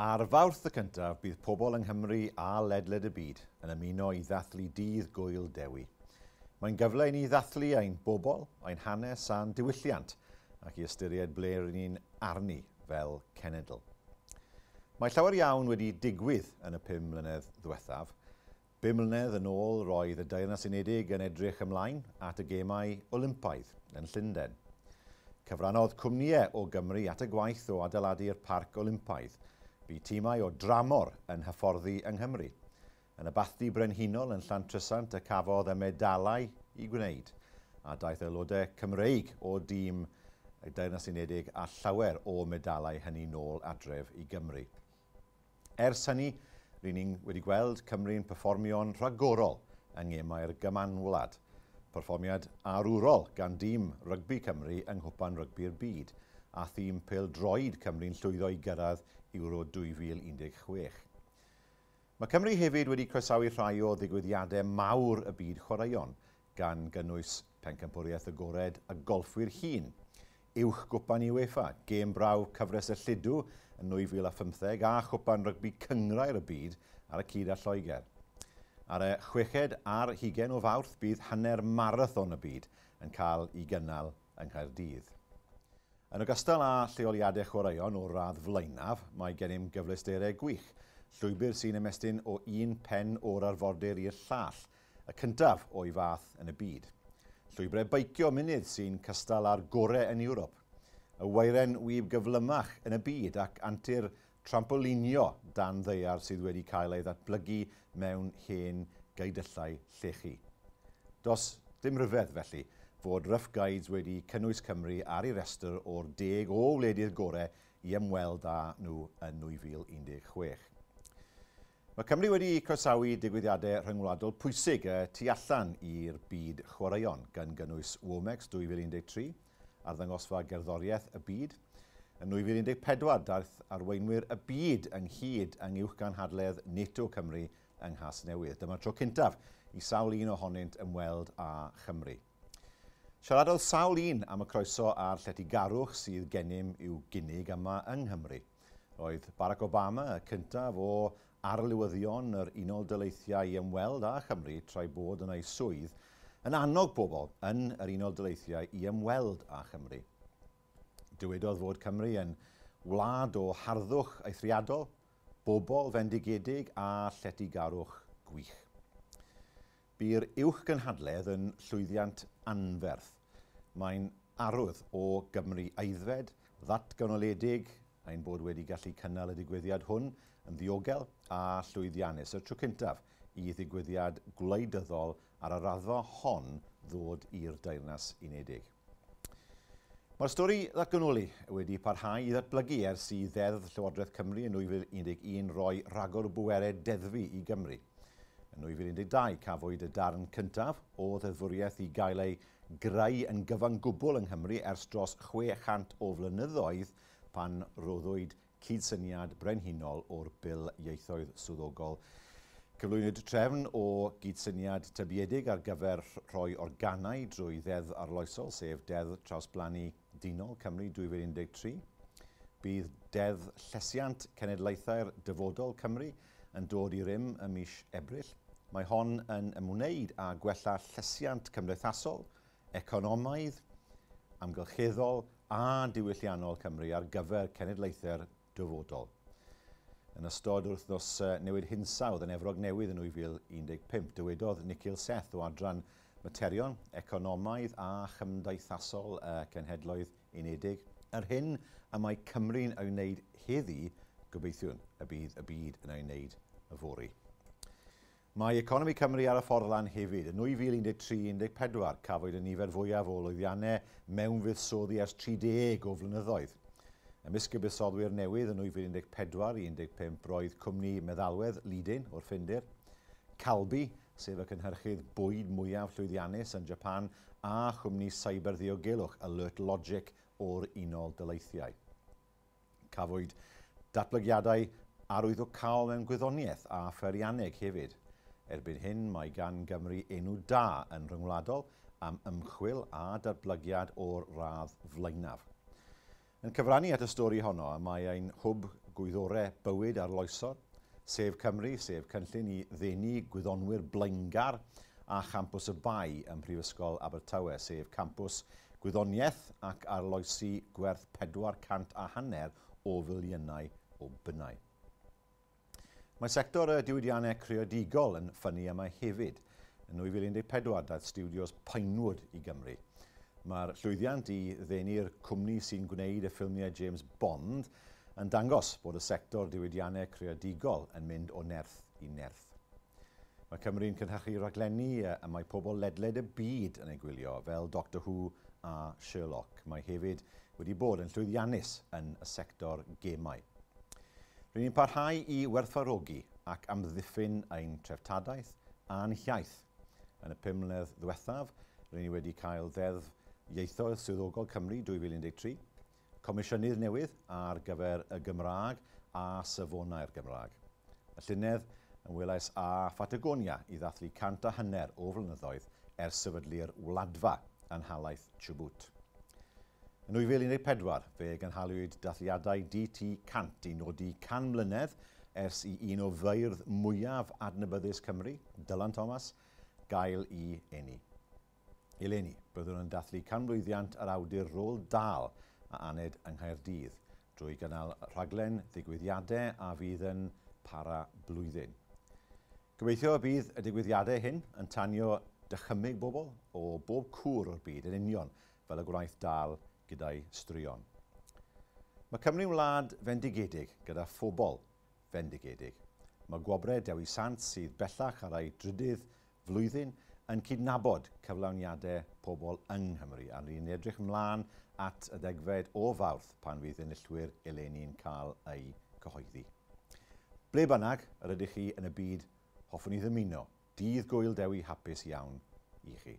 Ar Fawrth y cyntaf, bydd pobl yng Nghymru a ledled y byd yn ymuno i ddathlu Dydd Gŵyl Dewi. Mae'n gyfle i ni ddathlu ein bobl, ein hanes a'n diwylliant, ac i ystyried ble rydyn ni'n arni fel cenedl. Mae llawer iawn wedi digwydd yn y 5 mlynedd ddiwethaf. 5 mlynedd yn ôl roedd y Deyrnas Unedig yn edrych ymlaen at y Gemau Olympaidd yn Llundain. Cyfrannodd cwmnïau o Gymru at y gwaith o adeiladu'r Parc Olympaidd. Bu tîmau o dramor yn hyfforddi yng Nghymru. Yn y Bathdy Brenhinol yn Llantrisant y cafodd y medalau i gwneud, a daeth aelodau Cymreig o dîm y Deyrnas Unedig a llawer o medalau hynny nôl adref i Gymru. Ers hynny, ry'n ni'n wedi gweld Cymru'n perfformio'n rhagorol yng Ngemau'r Gymanwlad. Perfformiad arwrol gan dîm rygbi Cymru yng Nghwpan Rygbi'r Byd, a thîm pêl-droed Cymru'n llwyddo i gyrraedd Euro 2016. Mae Cymru hefyd wedi croesawu rhai o ddigwyddiadau mawr y byd chwaraeon, gan gynnwys Pencampwriaeth Agored y Golffwyr Hŷn, Uwch Gwpan UEFA, Gêm Brawf Cyfres y Lludw yn 2015 a Chwpan Rygbi Cynghrair y Byd ar y cyd â Lloegr. Ar y chweched ar hugain o Fawrth bydd hanner marathon y byd yn cael ei gynnal yng Nghaerdydd. Yn ogystal â lleoliadau chwaraeon o'r radd flaenaf, mae gennym gyfleusterau gwych, llwybr sy'n ymestyn o un pen o'r arfordir i'r llall, y cyntaf o'i fath yn y byd. Llwybrau beicio mynydd sy'n cystal â'r gorau yn Ewrop. Y weiren wib gyflymach yn y byd ac antur trampolinio dan ddaear sydd wedi cael ei ddatblygu mewn hen geudyllau llechi. Does dim rhyfedd, felly, fod Rough Guides wedi cynnwys Cymru ar ei restr o'r 10 o wledydd gorau i ymweld â nhw yn 2016. Mae Cymru wedi croesawu digwyddiadau rhyngwladol pwysig y tu allan i'r byd chwaraeon, gan gynnwys Womex 2013, arddangosfa gerddoriaeth y byd. Yn 2014, daeth arweinwyr y byd ynghyd yng Uwchgynhadledd NATO Cymru yng Nghasnewydd. Dyma'r tro cyntaf i sawl un ohonynt ymweld â Chymru. Siaradodd sawl un am y croeso a'r lletygarwch sydd gennym i'w gynnig yma yng Nghymru. Roedd Barack Obama, y cyntaf o arlywyddion yr Unol Daleithiau i ymweld â Chymru tra'i bod yn ei swydd, yn annog bobl yn yr Unol Daleithiau i ymweld â Chymru. Dywedodd fod Cymru yn wlad o harddwch eithriadol, bobl fendigedig a lletygarwch gwych. Bu'r uwchgynhadledd yn llwyddiant anferth. Mae'n arwydd o Gymru aeddfed, ddatganoledig, ein bod wedi gallu cynnal y digwyddiad hwn yn ddiogel a llwyddiannus. Y tro cyntaf i ddigwyddiad gwleidyddol ar y raddfa hon ddod i'r Deyrnas Unedig. Mae'r stori ddatganoli wedi parhau i ddatblygu ers i Ddeddf Llywodraeth Cymru yn 2011 roi rhagor o bwerau deddfu i Gymru. Yn 2012 cafwyd y darn cyntaf o ddeddfwriaeth i gael ei greu yn gyfan gwbl yng Nghymru ers dros 600 o flynyddoedd pan roddwyd cydsyniad brenhinol o'r Bil Ieithoedd Swyddogol. Cyflwynwyd trefn o gydsyniad tybiedig ar gyfer rhoi organau drwy Ddeddf Arloesol, sef Deddf Trawsblannu Dynol Cymru 2013. Bydd Deddf Llesiant Cenedlaethau'r Dyfodol Cymru yn dod i rym ym mis Ebrill. Mae hon yn ymwneud â gwella llesiant cymdeithasol, economaidd, amgylcheddol a diwylliannol Cymru ar gyfer cenedlaethau'r dyfodol. Yn ystod wythnos newid hinsawdd yn Efrog Newydd yn 2015, dywedodd Nikhil Seth o adran Materion Economaidd a Chymdeithasol y Cenhedloedd Unedig, yr hyn y mae Cymru'n ei wneud heddi, gobeithiwn y bydd y byd yn ei wneud yfory. Mae economi Cymru ar y ffordd lan hefyd. Yn 2013-14 cafwyd y nifer fwyaf o lwyddiannau mewn fuddsoddi ers 30 o flynyddoedd. Ymysg y buddsoddwyr newydd yn 2014-15 roedd cwmni meddalwedd Lidin o'r Ffindir, Calbee, sef y cynhyrchydd bwyd mwyaf llwyddiannus yn Japan, a chwmni cyberddiogelwch Alert Logic o'r Unol Daleithiau. Cafwyd datblygiadau arwyddocaol mewn gwyddoniaeth a pheirianneg hefyd. Erbyn hyn mae gan Gymru enw da yn rhyngwladol am ymchwil a datblygiad o'r radd flaenaf. Yn cyfrannu at y stori honno mae ein hwb gwyddorau bywyd arloesol, sef Cymru, sef cynllun i ddenu gwyddonwyr blaengar, a Champws y Bae ym Mhrifysgol Abertawe, sef campws gwyddoniaeth ac arloesi gwerth 450 o filiynau o bunnau. Mae sector y diwydiannau creadigol yn ffynnu yma hefyd. Yn 2014 daeth stiwdios Pinewood i Gymru. Mae'r llwyddiant i ddenu'r cwmni sy'n gwneud y ffilmiau James Bond yn dangos bod y sector diwydiannau creadigol yn mynd o nerth i nerth. Mae Cymru'n cynhyrchu rhaglenni y mae pobl ledled y byd yn ei gwylio, fel Doctor Who a Sherlock. Mae hefyd wedi bod yn llwyddiannus yn y sector gemau. Rydyn ni'n parhau i werthfawrogi ac amddiffyn ein treftadaeth a'n hiaith. Yn y 5 mlynedd ddiwethaf, rydyn ni wedi cael Ddeddf Ieithoedd Swyddogol Cymru 2013, Comisiynydd newydd ar gyfer y Gymraeg a Safonau'r Gymraeg. Y llynedd ymwelais â Phatagonia i ddathlu 150 o flynyddoedd ers sefydlu'r Wladfa yn nhalaith Chubut. Yn 2014, fe gynhaliwyd dathliadau DT 100 i nodi 100 mlynedd ers i un o feirdd mwyaf adnabyddus Cymru, Dylan Thomas, gael ei eni. Eleni, byddwn yn dathlu canmlwyddiant yr awdur Roald Dahl a aned yng Nghaerdydd drwy gynnal rhaglen ddigwyddiadau a fydd yn para blwyddyn. Gobeithio y bydd y digwyddiadau hyn yn tanio dychymyg bobl o bob cwr o'r byd yn union fel y gwnaeth Dahl gyda'i straeon. Mae Cymru'n wlad fendigedig gyda phobl fendigedig. Mae gwobrau Dewi Sant sydd bellach ar ei drydydd flwyddyn yn cydnabod cyflawniadau pobl yng Nghymru, a ni'n edrych ymlaen at y 10fed o Fawrth pan fydd enillwyr eleni'n cael eu cyhoeddi. Ble bynnag yr ydych chi yn y byd, hoffwn i ddymuno dydd Gŵyl Dewi hapus iawn i chi.